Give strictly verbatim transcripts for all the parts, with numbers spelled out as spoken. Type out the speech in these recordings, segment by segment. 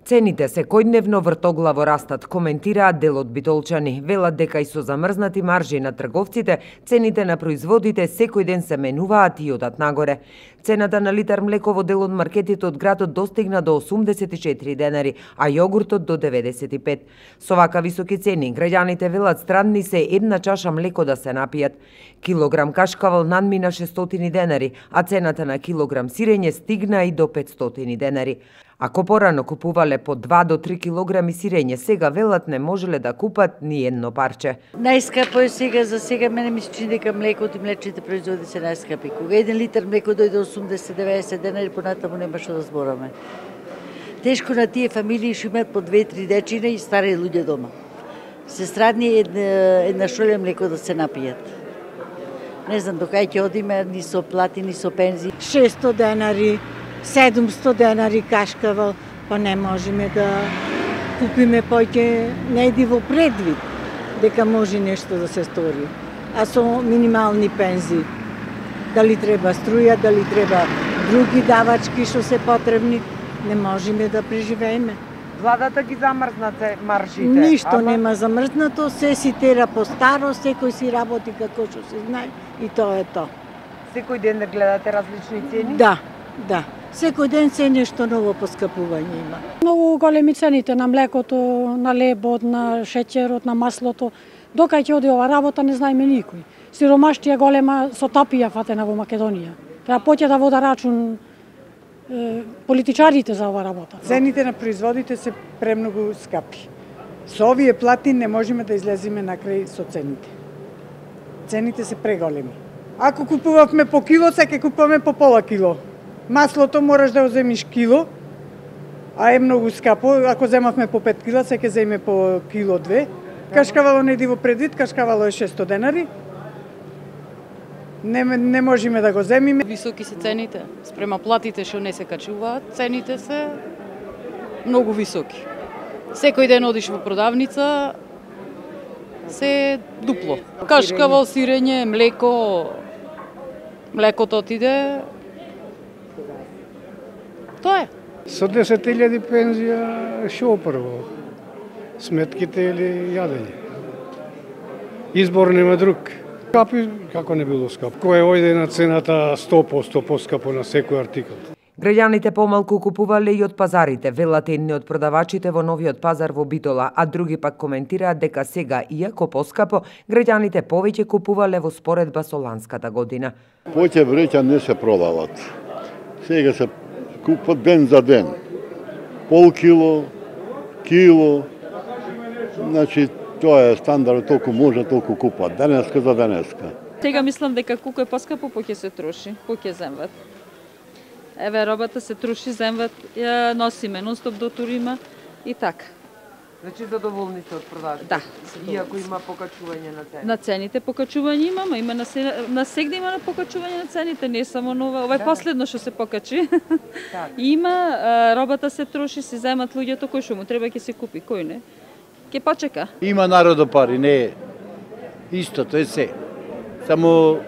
Цените секојдневно вртоглаво растат, коментираат дел од битолчани. Велат дека и со замрзнати маржи на трговците, цените на производите секој ден се менуваат и одат нагоре. Цената на литар млеко во дел од маркетите од градот достигна до осумдесет и четири денари, а јогуртот до деветдесет и пет. Со вака високи цени, граѓаните велат странни се една чаша млеко да се напијат. Килограм кашкавал надмина шестстотини денари, а цената на килограм сирење стигна и до петстотини денари. Ако порано купувале по два до три килограми сирење, сега велат не можеле да купат ни едно парче. Најскапо е сега, за сега мене ми се чини дека млекото и млечните производи се најскапи. Кога еден литар млеко дојде осумдесет до деветдесет денари, понатаму нема што да збораме. Тешко на тие фамилии што имаат по две-три дечина и стари луѓе дома. Се страдни една, една шолја млеко да се напијат. Не знам до кај ќе одиме, ни со плати, ни со пензии. шестстотини денари, седумстотини денари кашкавал, па не можеме да купиме поќе, не иди во предвид дека може нешто да се стори. А со минимални пензии, дали треба струја, дали треба други давачки што се потребни, не можеме да преживееме. Владата ги замрзна маржите. Ништо ама... нема замрзнато, се си тера по старо, секој си работи како што се знае и тоа е тоа. Секој ден да гледате различни цени? Да, да. Секој ден се нешто ново поскапување има. Многу големи цените на млекото, на лебот, на шеќерот, на маслото. Докај ќе оди ова работа не знаеме никој. Сиромаштија голема со тапија фатена во Македонија. Треба поќе да вода рачун е, политичарите за ова работа. Цените на производите се премногу скапи. Со овие плати не можеме да излеземе на крај со цените. Цените се преголеми. Ако купувавме по кило, сега купуваме по пола кило. Маслото мораш да земиш кило, а е многу скапо. Ако земавме по пет кила, сега земе по кило две. Кашкавало не иди во предвид, кашкавало е шестстотини денари. Не, не можеме да го земиме. Високи се цените, спрема платите што не се качуваат, цените се многу високи. Секој ден одиш во продавница, се дупло. Кашкавал, сирење, млеко, млекото отиде. Тоа е. Со десет илјади пензија шо прво? Сметките или јадење? Избор нема друг. Скапи, како не било скап. Кој ојде на цената сто проценти поскапо на секој артикал. Граѓаните помалку купувале и од пазарите, велат едни од продавачите во новиот пазар во Битола, а други пак коментираат дека сега, иако поскапо, граѓаните повеќе купувале во споредба со ланската година. Повеќе вреќа не се продават. Сега се купат ден за ден. Пол кило, кило, значи тоа е стандард, толку може, толку купат. Денеска за денеска. Сега мислам дека колку е поскапо, поќе се троши, поќе земват. Еве, робата се троши, земват, ја носиме нон-стоп до турима и така. Значи задоволни сте од продажбите? Да. Иако има покачување на цените? На цените покачување имаме, има на, се, на сегде има на покачување на цените, не само нова, ова е да, последно што се покачи. Так. Има, робата се троши, се земат луѓето, кој што му треба ќе се купи, кој не. Ке почека. Има народо пари, не е истото е се. Само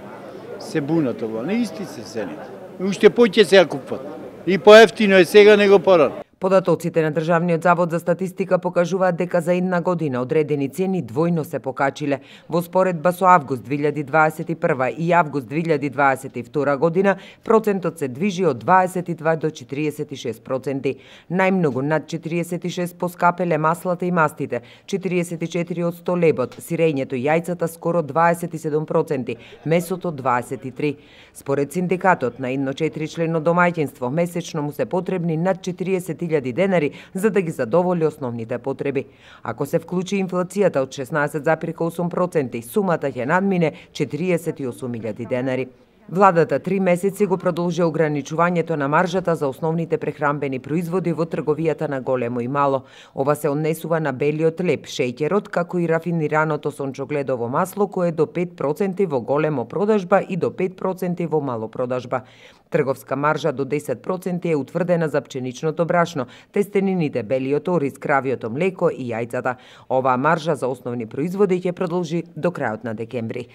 се бунат ова, не исти се цените. Уште поќе се ја купат. И поевтино е сега него порано. Податоците на Државниот завод за статистика покажуваат дека за една година одредени цени двојно се покачиле. Во споредба со август две илјади дваесет и прва и август две илјади дваесет и втора година, процентот се движи од дваесет и два до четириесет и шест проценти. Најмногу над четириесет и шест поскапеле маслата и мастите, четириесет и четири од сто лебот, сирењето и јајцата скоро дваесет и седум проценти, месото дваесет и три. Според синдикатот на едно четиричлено домаќинство месечно му се потребни над четириесет илјади денари за да ги задоволи основните потреби. Ако се вклучи инфлацијата од шеснаесет зарез и осум проценти, сумата ќе надмине четириесет и осум илјади денари. Владата три месеци го продолжи ограничувањето на маржата за основните прехранбени производи во трговијата на големо и мало. Ова се однесува на белиот леб, шеќерот, како и рафинираното сончогледово масло, кое е до пет проценти во големо продажба и до пет проценти во мало продажба. Трговска маржа до десет проценти е утврдена за пченичното брашно, тестенините, белиот ориз, кравиото млеко и јајцата. Оваа маржа за основни производи ќе продолжи до крајот на декември.